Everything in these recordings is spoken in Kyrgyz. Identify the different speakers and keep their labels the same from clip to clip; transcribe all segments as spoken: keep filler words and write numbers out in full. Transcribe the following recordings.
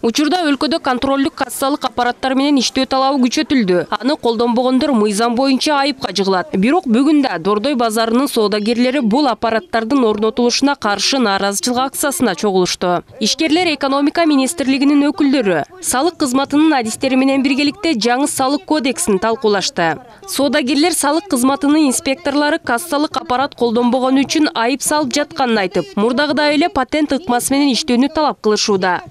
Speaker 1: Учурда өлкөдө контролдук кассалык аппараттар менен иштөө талабы күчөтүлдү. Аны колдонбогондор мыйзам боюнча айыпка жыгылат. Бирок бүгүн да Дордой базарынын соодагерлери бул аппараттардын орнотулушуна каршы нааразычылык акциясына чогулушту. Ишкерлер экономика министрлигинин өкүлдөрү салык кызматынын адистери менен биргеликте жаңы салык кодексин талкуулашты. Соодагерлер салык кызматынын инспекторлору кассалык аппарат колдонбогону үчүн айып салып жатканын айтып, мурдагыдай эле патент ыкмасы менен иштөөнү талап кылышууда.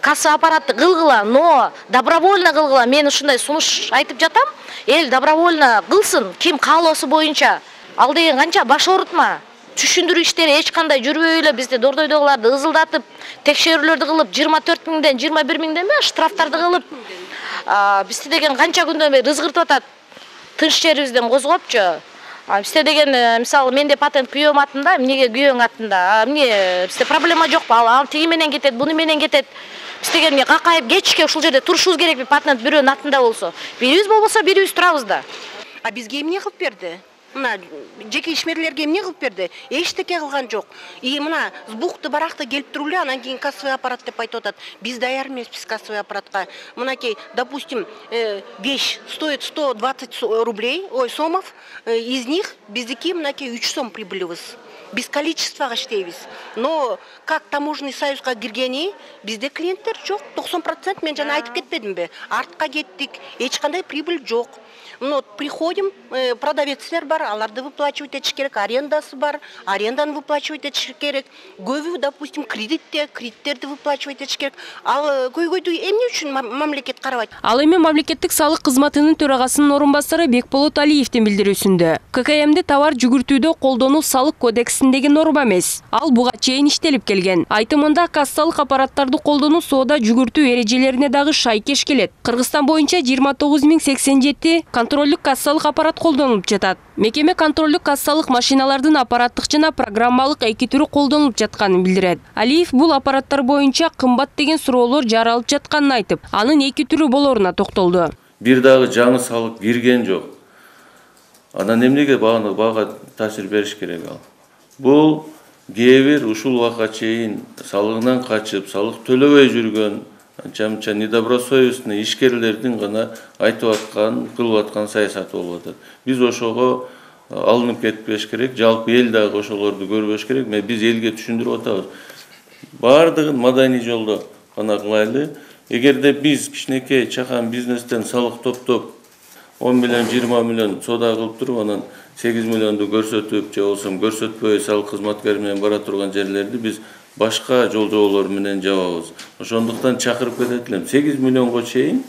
Speaker 2: Касса аппаратты кылгыла, но добровольно кылгыла. Мен ушундай сунуш айтып жатам. Эл добровольно кылсын, ким каалоосу боюнча. Ал деген канча баш оорутма. Түшүндүрүү иштери эч кандай жүрбөй эле бизде Дордойдогуларды ызылдатып, текшерүүлөрдү кылып, жыйырма төрт миңден жыйырма бир миңден бе штрафтарды кылып, бизде деген канча күндөн бери ызгыртып атат. Тынч жерибизден козгопчу. Бизде деген, мисалы, менде патент күйөөм атында, эмнеге күйөөң атында? Эмне, бизде проблема жокпу? Ал тиги менен кетет, буну менен кетет. Биз деген эмне какайып кетишке ушул жерде турушубуз керекпи? Патент бирөөнүн атында болсо. Бирибиз болбосо бирибиз турабыз да.
Speaker 3: А бизге эмне кылып берди? Мына жеке ишмерлерге эмне кылып берди? Эчтеке кылган жок. И мына бухты баракта келип туруп эле анан кийин кассовый аппарат деп айтып атат. Биз даяр эмеспиз кассовый аппаратка. Мынакей, допустим, вещь стоит сто двадцать рублей, ой, сомов, из них биздики мынакей үч сом прибылыбыз. Без количествага иштейбиз. Но как таможенный союзга киргени, бизде клиенттер жок. токсон процент мен жана айтып кетпедимби? Артка кеттик, эч кандай прибыль жок. Но приходим, продавецлер бар, аларды выплачивать этиш керек, арендасы бар, аренданы выплачивать этиш керек. Көбү, допустим, кредитте, кредиттерди выплачивать этиш керек. Ал көйгөйдү эмне үчүн мамлекет карабайт?
Speaker 1: Ал эми мамлекеттик салык кызматынын төрагасынын орун басары Бекболот Алиевдин билдирүүсүндө К К М'ди товар жүгүртүүдө колдонуу салык кодексиндеги норма эмес. Ал буга чейин иштелип келген. Айтымында кассалык аппараттарды колдонуу соода жүгүртүү эрежелерине дагы шайкеш келет. Кыргызстан боюнча жыйырма тогуз миң сексен жети контролдук кассалык аппарат колдонулуп жатат. Мекеме контролдук кассалык машиналардын аппараттык жана программалык эки түрү колдонулуп жатканын билдирет. Алиев бул аппараттар боюнча кымбат деген суроолор жаралып жатканын айтып, анын эки түрү болоруна токтолду.
Speaker 4: Бир дагы жаңы салык кирген жок. Анан эмнеге бааны бага таасир бериш керек ал? Бул кээ бир ушул убакка чейин салыгынан качып, салык төлөбөй жүргөн анча-мынча недобросовестный ишкерлердин гана айтып аткан, кылып аткан саясаты болуп атат. Биз ошого алынып кетпеш керек, жалпы эл дагы ошолорду көрбөш керек. Мен биз элге түшүндүрүп атабыз. Бардыгын маданий жолдо гана кылайлы. Эгерде биз кичинекей чакан бизнестен салык топтоп он миллион, жыйырма миллион соода кылып туруп, анан сегиз миллионду көрсөтүп, же болсо көрсөтпөй салык кызматкер менен бара турган жерлерди биз башка жол жоболор менен жабабыз. Ошондуктан чакырып кетет элем. сегиз миллионго чейин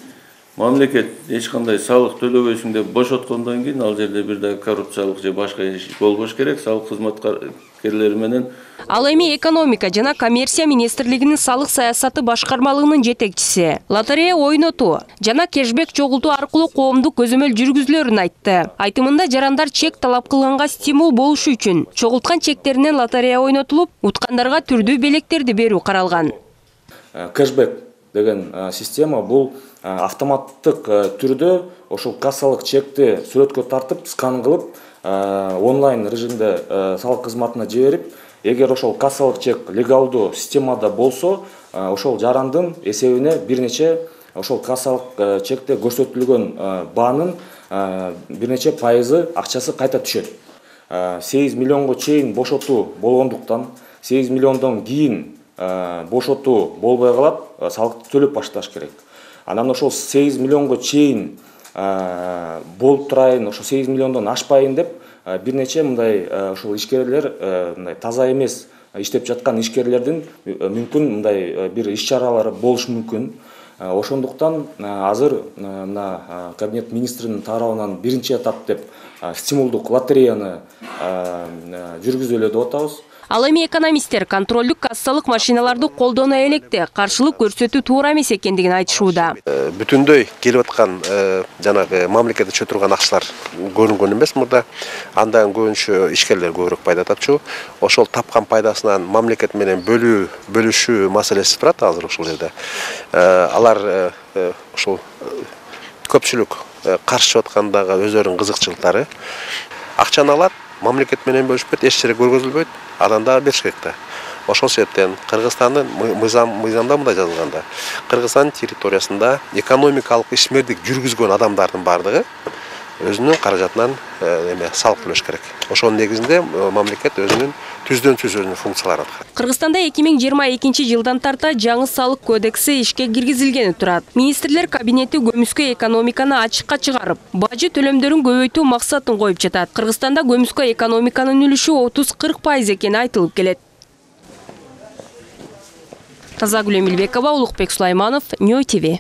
Speaker 4: мамлекет эч кандай салык төлөбөйсүң деп бошоткондон кийин ал жерде бир да коррупциялык же башка иш болбош керек. Салык кызматкерлери менен.
Speaker 1: Ал эми экономика жана коммерция министрлигинин салык саясаты башкармалыгынын жетекчиси лотерея ойнотуу жана кешбек чогултуу аркылуу коомдук көзөмөл жүргүзүлөрүн айтты. Айтымында жарандар чек талап кылганга стимул болушу үчүн чогулткан чектеринен лотерея ойнотулуп, уткандарга түрдүү белектерди берүү каралган.
Speaker 5: Кешбек деген система бул автоматтык түрдө ошол кассалык чекти сүрөткө тартып, скан кылып, онлайн режимде салык кызматына жиберип, эгер ошол кассалык чек легалдуу системада болсо, ошол жарандын эсебине бир нече ошол кассалык чекте көрсөтүлгөн баанын бир нече пайызы акчасы кайта түшөт. сегиз миллионго чейин бошотуу болгондуктан сегиз миллиондон кийин бошотуу болбой калат, салыкты төлөп башташ керек. Анан ошол сегиз миллионго чейин болуп турайын, ошо сегиз миллиондон ашпайын деп бир нече мындай ошол ишкерлер, мындай таза эмес иштеп жаткан ишкерлердин мүмкүн мындай бир иш-чаралары болушу мүмкүн. Ошондуктан азыр мына Кабинет министринин тарабынан биринчи этап деп стимулдук лотереяны жүргүзөлү деп атабыз.
Speaker 1: Ал эми экономисттер контролдук кассалык машиналарды колдоно электе каршылык көрсөтүү туура эмес экендигин айтышууда.
Speaker 6: Бүтүндөй келип аткан жанагы мамлекет өчө турган акчалар көрүнгөн эмес мурда. Андан көбүнчө ишкерлер көбүрөөк пайда тапчу. Ошол тапкан пайдасынан мамлекет менен бөлүү, бөлүшүү маселеси турат азыр ошол жерде. Алар ошол көпчүлүк каршы аткандагы өздөрүнүн кызыкчылыктары. Акчаны алат, мамлекет менен бөлүшпөйт, эч жерге көргөзүлбөйт, анан да бериш керек да. Ошол себептен Кыргызстандын мыйзам мыйзамда мындай жазылганда, Кыргызстандын территориясында экономикалык ишмердик жүргүзгөн адамдардын бардыгы өзүнүн каражатынан эме салык төлөш керек. Ошонун негизинде мамлекет өзүнүн түздөн түз өзүнүн функцияларын аткарат.
Speaker 1: Кыргызстанда эки миң жыйырма экинчи жылдан тарта жаңы салык кодекси ишке киргизилгени турат. Министрлер кабинети көмүскө экономиканы ачыкка чыгарып, бажы төлөмдөрүн көбөйтүү максатын коюп жатат. Кыргызстанда көмүскө экономиканын үлүшү отуз кырк пайыз экени айтылып келет. Тазагүл Эмилбекова, Улукбек Сулайманов, Нью ТВ.